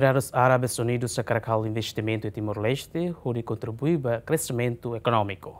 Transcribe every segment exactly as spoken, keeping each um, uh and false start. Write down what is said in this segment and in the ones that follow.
Estados Árabes Unidos hakarak halo investimentu iha Timor-Leste hodi kontribui ba kreximentu ekonómiku.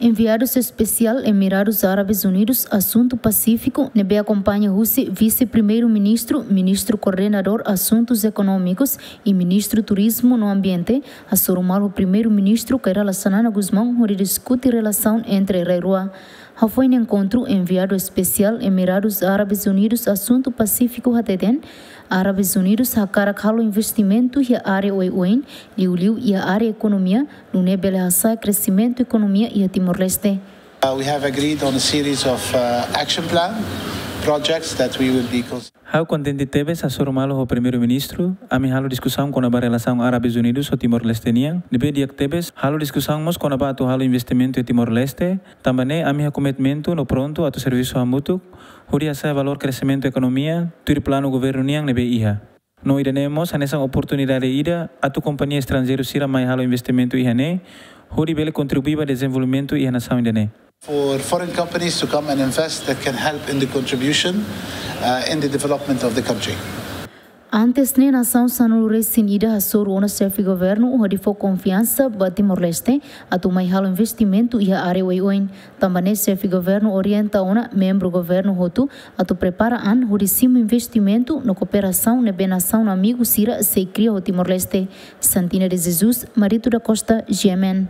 Enviadu Espesiál Emirados Árabes Unidos Asuntu Pasífiku ne'ebé akompaña husi Vise-Primeiru-Ministru, Ministru Koordenadór Asuntus Ekonómikus i Ministru Turizmu no Ambiente, hasoru malu ho Primeiru-Ministru Kay Rala Xanana Gusmão hodi diskute relasaun entre rai rua. Hafoin enkontru, Enviadu Espesiál Emirados Árabes Unidos Asuntu Pasífiku hateten, Árabes Unidos hakarak halo investimentu iha área oioin, liuliu iha área ekonomia, nune'e bele hasa'e kreximentu ekonomia iha Timor-Leste. Uh, we have agreed on a series of uh, action plan projects that we will be cons- Ha'u kontente tebes hasoru malu ho Primeiru-Ministru, ami halo diskusaun kona-ba relasaun Árabes Unidos ho Timor-Leste nian. Ne'ebé di'ak tebes, halo diskusaun mós kona-ba atu halo investimentu iha Timor-Leste, tanba ne'e ami iha komitmentu no prontu atu servisu hamutuk hodi hasa'e valór kreximentu ekonomia tuir planu governu nian ne'ebé iha. No ida-ne'e mós hanesan oportunidade ida atu kompañia estranjeiru sira mai halo investimentu iha ne'e, hodi bele kontribui ba dezenvolvimentu iha nasaun ida-ne'e. for foreign companies to come and invest that can help in the contribution uh, in the development of the country. Antes ne'e, nasaun sanulu-resin-ida hasoru ona Xefe Governu hodi fó konfiansa ba Timor-Leste atu mai halo investimentu iha área oioin. Tanba ne'e, Xefe Governu orienta ona membru governu hotu atu prepara an hodi simu investimentu no kooperasaun ne'ebé nasaun amigu sira sei kria ho Timor-Leste. Santina de Jesus, Marito da Costa, G M N.